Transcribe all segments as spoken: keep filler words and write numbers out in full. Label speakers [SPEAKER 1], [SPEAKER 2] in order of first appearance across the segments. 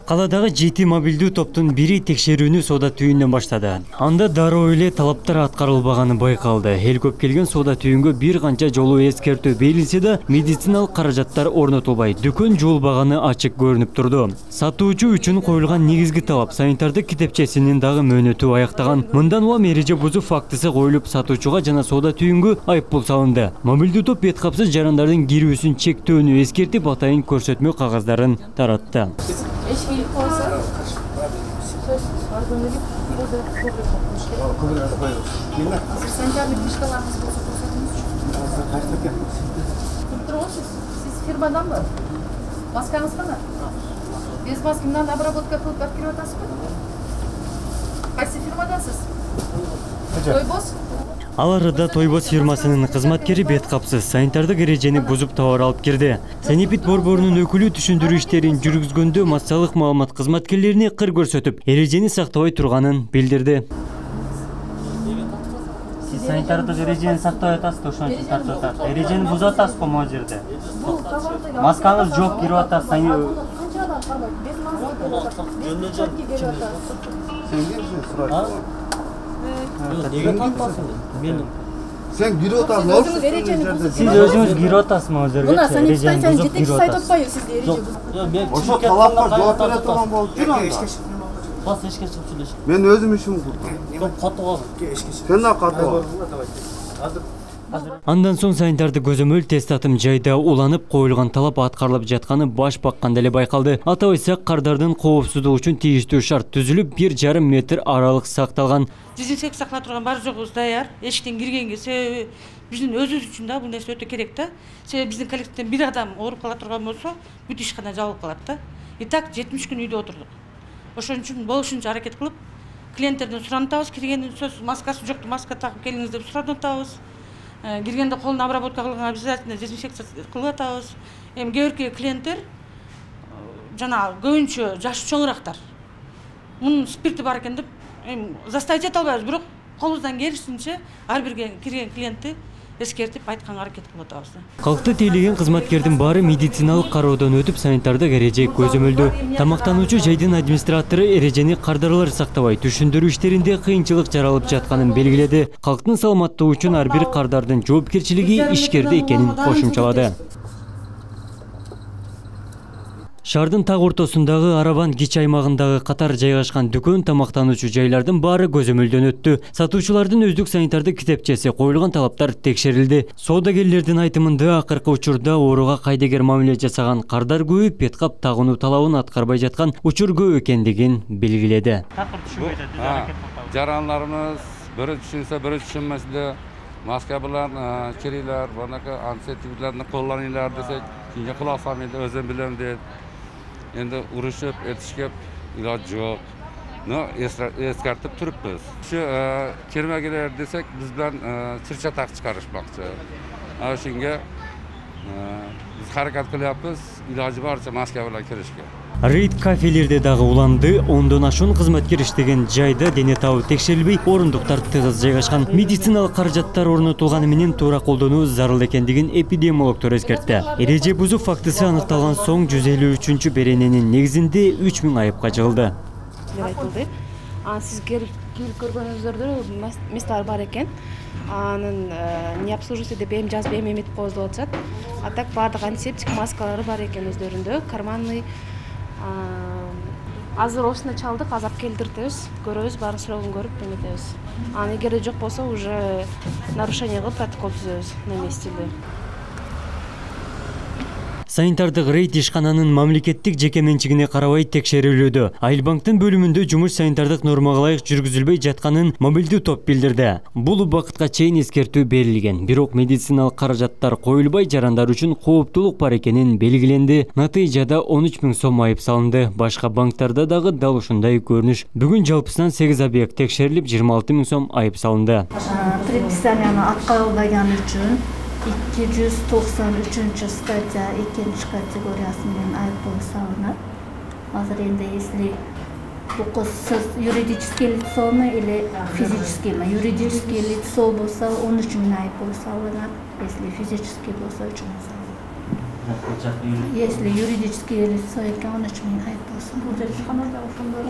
[SPEAKER 1] Каладагы жети мобилдүү топтун бири текшерүүнү соода түйүндөн баштады. Анда дароо эле талаптар аткарылбаганы байкалды. Эл көп келген соода түйүнгө бир канча жолу эскертүү берилсе да, медициналык каражаттар орнотулбай, дүкөн жуулбаганы ачык көрүнүп турду. Сатуучу үчүн коюлган негизги талап санитардык китепчесинин дагы мөөнөтү аяктаган. Мындан улам эреже бузуу фактысы коюлуп, сатуучуга жана соода түйүнгө айыппул салынды. Мобилдүү топ бет капсыз жарандардын кирүүсүн чектөөнү эскертип, атайын көрсөтмө кагаздарын таратты.
[SPEAKER 2] Eşki koysa, söz organik bir de kuvvet olmuş.
[SPEAKER 3] Kuvvet koyuyoruz. Yine.
[SPEAKER 2] Sen kendi dışkalarınız olsa koysanız.
[SPEAKER 3] Kaç dakika yapmış?
[SPEAKER 2] Tutturmuşsunuz. Siz firmadan mı? Maskanız mı? Без маскимden обработка кылып берип атасызбы? Кайсы фирмадасыз? Тойбос?
[SPEAKER 1] Аларда Тойбос фирмасынын кызматкери бет капсыз санитардык эрежени бузуп товар алып кирди. Санепид борборунун өкүлү түшүндүрүү иштерин жүргүзгөндө массалык маалымат кызматкерлерине кыр көрсөтүп, эрежени сактабай турганын билдирди. Сиз санитардык эрежени сактабай атасыз, ошон үчүн тартып атат. Эрежени бузуп атасыз го могу жерде. Маскаңыз жок, кирип атасыз.
[SPEAKER 3] Неге тартпасың? Мен Sen giri otasın.
[SPEAKER 1] Siz özünüz giri otasınız mı o жерге?
[SPEAKER 2] Buna sanitaysan жетекчи сайт отпайбы сизде эреже бузуп?
[SPEAKER 3] Ошо талапка жооп бере турган болуп жүрүм анда.
[SPEAKER 4] Бас эшке чыгып сүйлөш.
[SPEAKER 3] Мен өзүм ишим кылдым.
[SPEAKER 4] Топ катып ал.
[SPEAKER 3] Сен да катып ал.
[SPEAKER 1] Андан соң санитардык көзөмөл тест атым жайда уланып коюлган талап аткарылып жатканы баш бакканда эле байкалды. Атап айтсак, кардардын коопсуздугу үчүн тийиштүү шарт түзүлүп, бир жарым метр аралык сакталган.
[SPEAKER 5] Дезинфекция сактала турган бар жогубуз даяр. Эшиктен киргенге себеби биздин өзүбүз үчүн да бул нерсе өтө керек да. Себеби биздин коллективден бир адам ооруп кала турган болсо, бүт ишкана жабылып калат да. И так жетимиш күн үйдө отурдук. Ошон үчүн болушунча аракет кылып, клиенттерден суранатабыз, киргенден сөз маскасы жокту, маска такып келиңиз деп суранатабыз. Киргенде колун обработка кылганга обязательно дезинфекция кылып атабыз. Эми кээ бирки клиенттер жана көбүнчө жашы чоңураактар. Мунун спирти бар экен деп эми заставить эте албайбыз, бирок колубуздан келишинче ар бир кирген клиентти эскертип айтканга аракет кылып атабыз.
[SPEAKER 1] Калкты тейлеген кызматкердин баары медициналык кароодон өтүп, санитардык эреже көзөмөлдө. Тамактануучу жайдын администратору эрежени кардарлар сактабай, түшүндүрүү иштеринде кыйынчылык жаралып жатканын белгиледи. Калктын саламаттыгы үчүн ар бир кардардын жоопкерчилиги ишкерде экенин кошумчалады. Шаардын так ортосундагы Арабан кич аймагындагы катар жайгашкан дүкөн, тамактануучу жайлардын баары көзөмөлдөн өттү. Сатуучулардын өздүк санитардык китепчеси, коюлган талаптар текшерилди. Соодагерлердин айтымында, акыркы учурда ооруга кайдыгер мамиле жасаган кардар көбөйүп, бет кап тагынуу талабын аткарбай жаткан учур көп экендигин белгиледи.
[SPEAKER 6] Жарандарыбыз бири түшүнсө, бири түшүнмөсө, маска менен кирилер, банакы антисептиклерди коллонуңар десек, кийинге кулак салмайды, өзүм билем дейт. Endi uruşup, etişkep ilacı yok. No, eskертип turupbuz. Şu kirmegiler desek biz bilen çırçatak çıkarışmakçı. Aşinge biz harakat kılyapız, ilacı varsa maske bilen kirişke.
[SPEAKER 1] Рейд кафелерде дагы уланды. Ондон ашуун кызматкер иштеген жайда дене табы текшерилбей, орундуктар тыгыз жайгашкан. Медициналык каражаттар орнотулганы менен туура колдонуу зарыл экендигин эпидемиологдор эскертти. Эреже бузуу фактысы аныкталган соң жүз элүү үчүнчү берененин негизинде үч миң айыпка жыгылды.
[SPEAKER 7] Сиз келип көргөнүңүздөрдө местар бар экен. Анын не обслуживается деп эми жазып эми эметип коебуз деп атышат. А так баардык антисептик маскалары бар экен өздөрүндө. Карманный азыр осуна чалдык, азап келтиртебиз, көрөбүз, баарын срогун көрүп эметебиз. Анан эгерде жок болсо уже нарушение кылып протокол түзөбүз на месте.
[SPEAKER 1] Санитардык рейд ишкананын мамлекеттик жеке менчигине карабай текшерилүүдө. Айылбанктын бөлүмүндө жумуш санитардык нормага ылайык жүргүзүлбөй жатканын мобилдүү топ билдирди. Бул убакытка чейин эскертүү берилген. Бирок медициналык каражаттар коюлбай, жарандар үчүн кооптулук бар экенин белгиленди. Натыйжада он үч миң сом айып салынды. Башка банктарда дагы дал ушундай көрүнүш. Бүгүн жалпысынан сегиз объект текшерилип, жыйырма алты миң сом айып салынды.
[SPEAKER 8] Предписанияны аткарылбаганы үчүн эки жүз токсон үчүнчү статья экинчи категориясы менен айыппул салынат. Азыр энди если бул сиз юридический лицону или физический, юридический лицо болсо он үч миң айыппул салынат. Если физический болсо үч миң салынат. Если юридический лицо экен он үч миң айыппул салынат. бул жер ишкана да ошондой.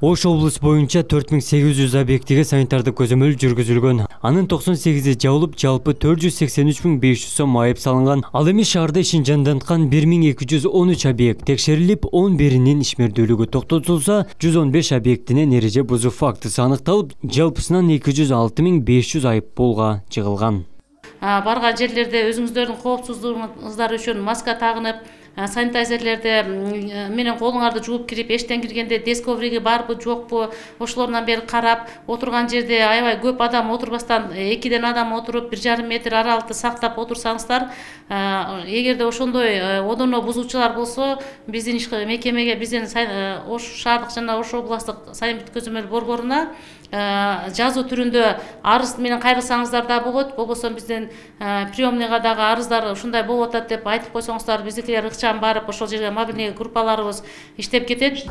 [SPEAKER 1] Ош облус боюнча төрт миң сегиз жүз объектиге санитардык көзөмөл жүргүзүлгөн. Анын токсон сегизи жабылып, жалпы төрт жүз сексен үч миң беш жүз сом айып салынган. Ал эми шаарда ишин жанданткан бир миң эки жүз он үч объект текшерилип, он биринин ишмердүүлүгү токтотулса, жүз он беш объектинен эреже бузуу фактысы аныкталып, жалпысынан эки жүз алты миң беш жүз айып полга жыгылган.
[SPEAKER 9] Барган жерлерде өзүңүздөрдүн коопсуздугуңуздар үчүн маска тагынып, санитайзерлерди менен колуңарды жууп кирип, эштен киргенде диск ковриги барбы, жокпу, ошолордон бери карап, отурган жерде аябай көп адам отурбастан экиден адам отуруп, бир жарым метр аралыкты сактап отурсаңыздар, эгерде ошондой одоно бузуучулар болсо, биздин мекемеге, биздин Ош шаардык жана Ош областтык санитардык көзөмөл борборуна жазуу түрүндө арыз менен кайрылсаңыздар да болот, болбосо биздин приемныйга дагы арыздар ушундай болуп атат деп айтып койсоңуздар, биздикилер ыкчам барып ошол жерге мобильный группаларыбыз иштеп кетет.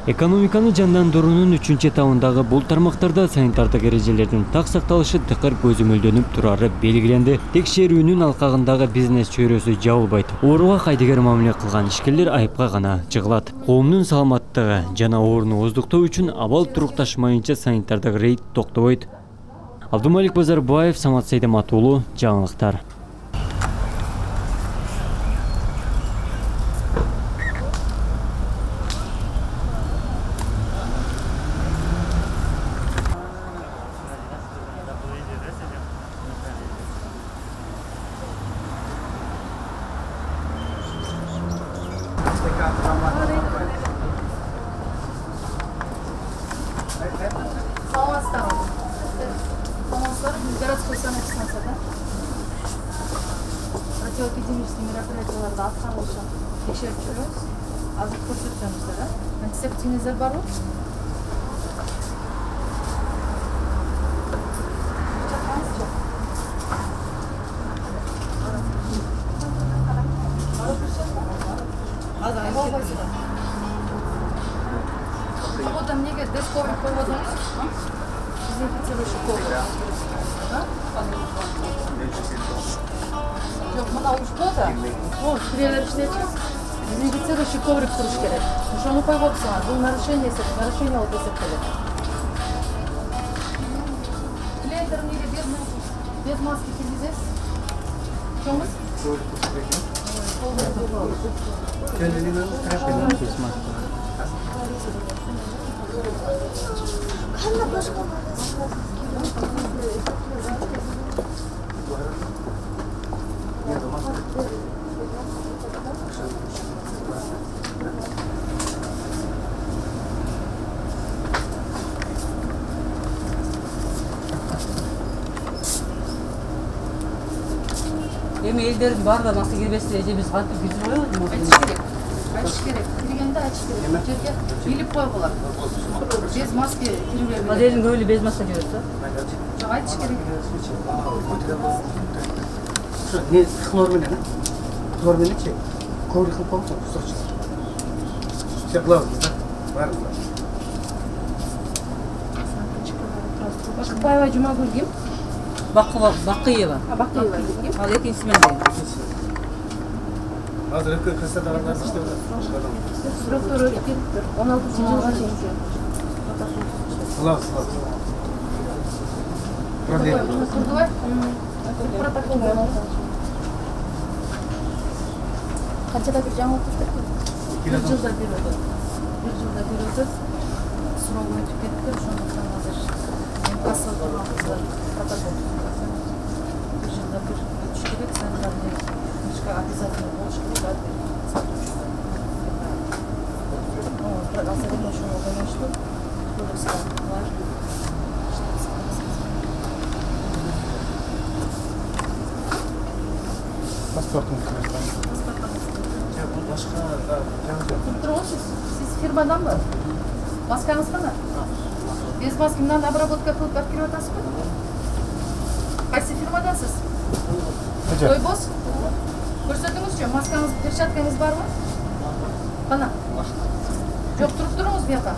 [SPEAKER 1] Экономиканы жандандыруунун үчүнчү этабындагы бул тармактарда санитардык эрежелердин так сакталышы тыкыр көзөмөлдөнүп турары белгиленди. Текшерүүнүн алкагындагы бизнес чөйрөсү жабылбайт. Ооруга кайдыгер мамиле кылган ишкерлер айыпка гана жыгылат. Коомдун саламаттыгы жана ооруну ооздуктоо үчүн абал турукташмайынча санитардык рейд токтобойт. Абдумалик Базарбаев, Самат Сейдемат уулу, жаңылыктар.
[SPEAKER 2] Городской санэпидемия, да? Противоэпидемические мероприятияларды аткарылышын текшерип жүрөбүз. Азыр көрсөтөбүз да. Антисептикиңиздер барбы? Вот там неге десковый поводом. Дезинфицирующий коврик. Жоқ, мына ушко да, о, кире бериштерчи, дезинфицирующий коврик туруш керек. Ошону койуп атсаңар, бул нарушение нарушение болуп эсептелет. Клиенттер эмнеге без маски киргизесиз? Чоңуз?
[SPEAKER 4] Эми элдердин баары маска кирбесин эже биз кантип киргизип коебуз?
[SPEAKER 2] Айтыш керек. Айтыш керек. Киргенде айтыш керек. Жерге билип коюп алат. Без маски кирип
[SPEAKER 4] Моделин көбүлү без маска жүрөт да.
[SPEAKER 2] Жок, айтыш керек.
[SPEAKER 3] Ошо не хлор менен, хлор мененчи коврик кылып коюңуз, кусачы. Все главное, да? Баарыбыз.
[SPEAKER 2] Бакытбаева Жумагүлгим.
[SPEAKER 4] Бакыева.
[SPEAKER 2] А, Бакыева.
[SPEAKER 4] Ал экинчиси менен.
[SPEAKER 3] Азыр эки касадагандар иштеп атат.
[SPEAKER 2] Структура өткөн он алтынчы жылга чейин.
[SPEAKER 3] Класс, класс. Проблема.
[SPEAKER 2] Курдубай? Протокол менен. Канчада бир жаңы окуштук? Бир жылда бир өтөт. Бир жылда бир өтөт. Срок өтүп кетти, ошондуктан азыр касса турган кыздар протокол. Бир жылда бир өтүш керек, санитарный книжка обязательно болуш керек. Азыр эми ошого байланыштуу кодекстер бар.
[SPEAKER 3] Паспортун
[SPEAKER 2] Сиз фирмаданбы? Маскаңыз кана? Без маски менен обработка кылып барып кирип атасызбы? Кайсы фирмадасыз? Тойбоз? Көрсөтүңүзчү, маскаңыз, перчаткаңыз барбы? Кана? Жок, туруп туруңуз бияка.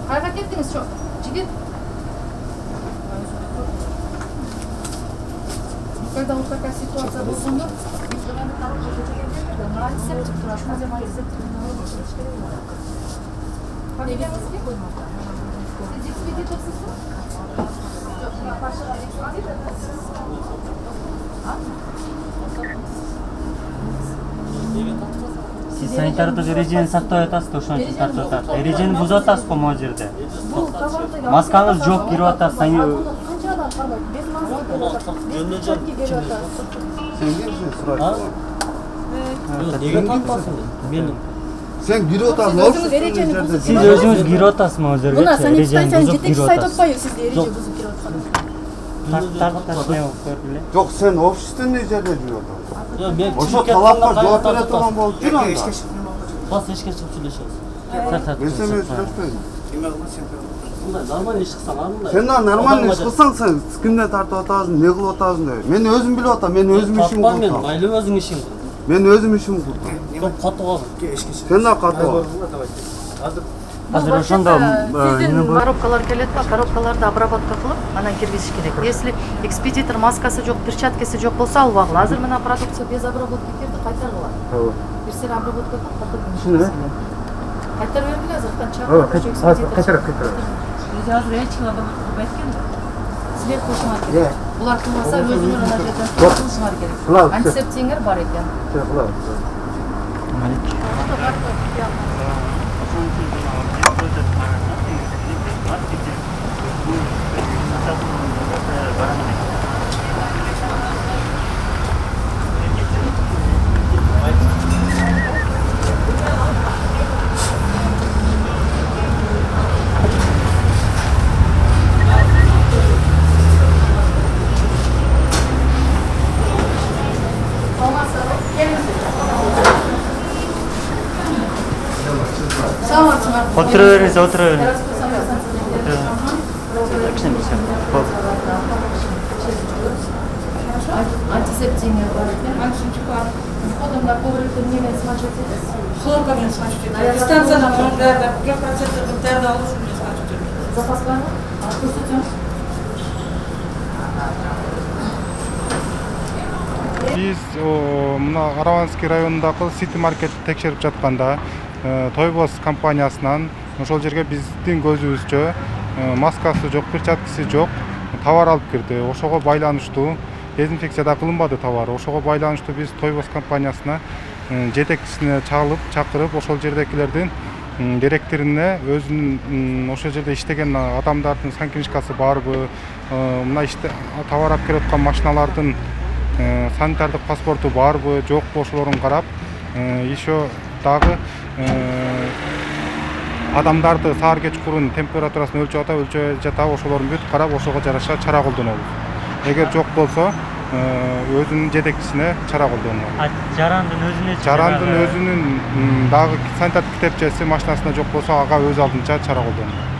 [SPEAKER 2] Кайга кеттиңиз, жок? Жигит? Когда вот такая ситуация болгондо, антисептик турат. Казем антисептик. Фамилияңыз ким? Сиз экспедиторсузбу?
[SPEAKER 1] Сиз санитардык эрежени сактап атасыз да, ошон үчүн тартып атат. Эрежени бузуп атасыз го могу жерде. Маскаңыз жок, кирип атасыз.
[SPEAKER 2] Канча адам кармайт? Без маска келип атат. Без перчатки келип атат.
[SPEAKER 3] Сен кимсиң сурайт?
[SPEAKER 10] Неге тартпасың? Мен
[SPEAKER 3] Сен кирип атасың,
[SPEAKER 2] Өзүңүз эрежени бузуп
[SPEAKER 1] Сиз өзүңүз кирип атасыз могу жерге.
[SPEAKER 2] Мына
[SPEAKER 1] Эрежени
[SPEAKER 2] санитарияны
[SPEAKER 1] бузуп
[SPEAKER 2] жетекчи
[SPEAKER 1] кирип
[SPEAKER 2] сайт
[SPEAKER 1] атасыз.
[SPEAKER 2] атпайбы сизди эреже бузуп кирип аткан?
[SPEAKER 1] Тартып не болуп көрдүлө.
[SPEAKER 3] Жок, сен общественный жерде жүрүп атасың.
[SPEAKER 10] мен
[SPEAKER 3] Ошо талапка жооп бере турган болуп жүр анда.
[SPEAKER 10] бас эшикке чыгып сүйлөшөбүз.
[SPEAKER 3] Мен сен менен сүйлөшпөйм.
[SPEAKER 10] Мындай нормальный иш кылсаң, ар мындай.
[SPEAKER 3] Сен да нормальный иш кылсаң, сен кимден тартып атасың, не кылып атасың деп. Мен өзүм билип атам, мен өзүм ишимди
[SPEAKER 10] Тартпа мен,
[SPEAKER 3] курдум.
[SPEAKER 10] майлы өзүң ишиң.
[SPEAKER 3] Мен өзүм ишимди курдум.
[SPEAKER 10] Көп катуу кал.
[SPEAKER 3] Сен да катуу.
[SPEAKER 1] Азыр ошондо эмне болот?
[SPEAKER 11] Коробкалар келет ба, коробкаларды обработка кылып, анан киргизиш керек. Если экспедитор маскасы жок, перчаткасы жок болсо албагыла. Азыр мына продукция без обработки келди, кайтаргыла.
[SPEAKER 3] Ооба.
[SPEAKER 11] Берсең обработка кылып, кайтарып
[SPEAKER 3] Түшүнөм.
[SPEAKER 11] Кайтарып бергиле азыр канча.
[SPEAKER 3] Ооба, кайтарып, кайтарып.
[SPEAKER 11] Өзү азыр эч ким обработка кылбайт экен да. Силер кылышыңар керек. Булар кылмаса өзүңөр ана жерден кылышыңар керек. Антисептиңер бар экен.
[SPEAKER 1] Отура бериңиз, отура бериңиз.
[SPEAKER 11] Антисептиңер бар экен. Антисептик бар. Входом на коврикти немен смачивать этесиз?
[SPEAKER 5] Хлорка менен смачивать этебиз. Станциядан мунун баары бир процент дәрди алыш менен смачивать этебиз.
[SPEAKER 11] Запас барбы? Көрсөтөм.
[SPEAKER 12] Биз мына Араванский районундагы Сити маркетти текшерип жатканда Тойбос компаниясынан ошол жерге биздин көзүбүзчө маскасы жок, перчаткасы жок товар алып кирди. Ошого байланыштуу дезинфекция да кылынбады товар. Ошого байланыштуу биз Тойбос компаниясына жетекчисине чалып, чакырып, ошол жердекилердин директоруна өзүнүн ошол жерде иштеген адамдардын санкнижкасы барбы, мына иште товар алып келип аткан машиналардын санитардык паспорту барбы, жокпу ошолорун карап, еще дагы адамдарды саар кечкурун температурасын өлчөп атабы, өлчөбөй жатабы, ошолорун бүт карап, ошого жараша чара колдонобуз. Эгер жок болсо, өзүнүн жетекчисине чара колдонот.
[SPEAKER 1] Жарандын өзүнө
[SPEAKER 12] Жарандын өзүнүн дагы санитардык китепчеси машинасында жок болсо, ага өз алдынча чара колдонот.